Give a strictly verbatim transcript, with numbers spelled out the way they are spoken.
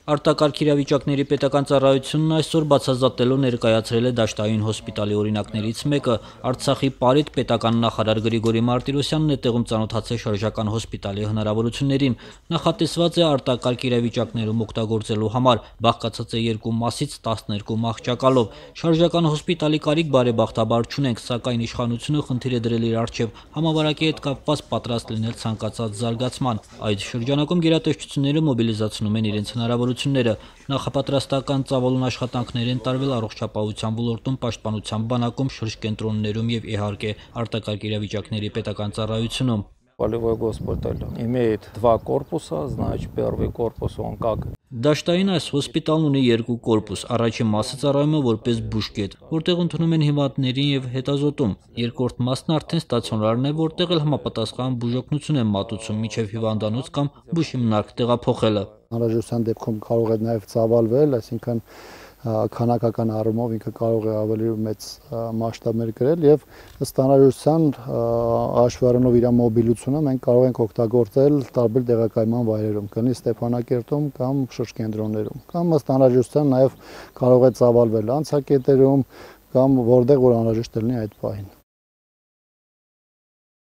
Արտակարգ իրավիճակների պետական ծառայությունն այսօր բացազատելով ներկայացրել է Դաշտային հոսպիտալի օրինակներից մեկը։ Արցախի ՊԱՐԻՏ պետական նախարար Գրիգորի Մարտիրոսյանն է տեղում ծանոթացել շարժական հոսպիտալի հնարավորություններին։ Նախատեսված է արտակարգ իրավիճակներում օգտագործելու համար, բաղկացած է երկու մասից տասներկու մահճակալով։ Շարժական հոսպիտալի կարիք բարեբախտաբար չունենք, սակայն իշխանությունը խնդիր է դրել իր առջև համավարակի հետ կապված պատրաստ լինել ցանկացած զարգացման։ Այդ շրջանակում գերատեսչությունները մոբիլիզացնում են իրենց հնարավորությունները։ Նախապատրաստական ծավալուն աշխատանքներ են տարվել առողջապահության ոլորտում, պաշտպանության բանակում, շրջկենտրոններում եւ իհարկե արտակարգ իրավիճակների պետական ծառայությունում։ Полевой госпиталь имеет два корпуса, значит, первый корпус он как Դաշտային այս հոսպիտալն ունի երկու կորպուս, առաջին մասը ծառայում է որպես բուժկետ, որտեղ ընդունում են հիմնադիրներին եւ հետազոտում։ Երկրորդ մասն արդեն ստացիոնարն է, որտեղ էլ համապատասխան բուժօգնություն են մատուցում մինչեւ հիվանդանոց կամ բուժհիմնարկ տեղափոխելը։ Անհրաժեշտության դեպքում կարող է նաեւ ծավալվել, այսինքն քանակական առումով ինքը կարող է ավելի մեծ մասշտաբներ կրել եւ ըստ անհրաժեշտության հաշվառումով իր մոբիլությունը մենք կարող ենք օգտագործել տարբեր տեղակայման վայրերում, կլինի Ստեփանակերտում կամ շրջկենտրոններում, կամ ըստ անհրաժեշտության նաեւ կարող է ծավալվել անցակետերում կամ որտեղ որ անհրաժեշտ լինի այդ պահին։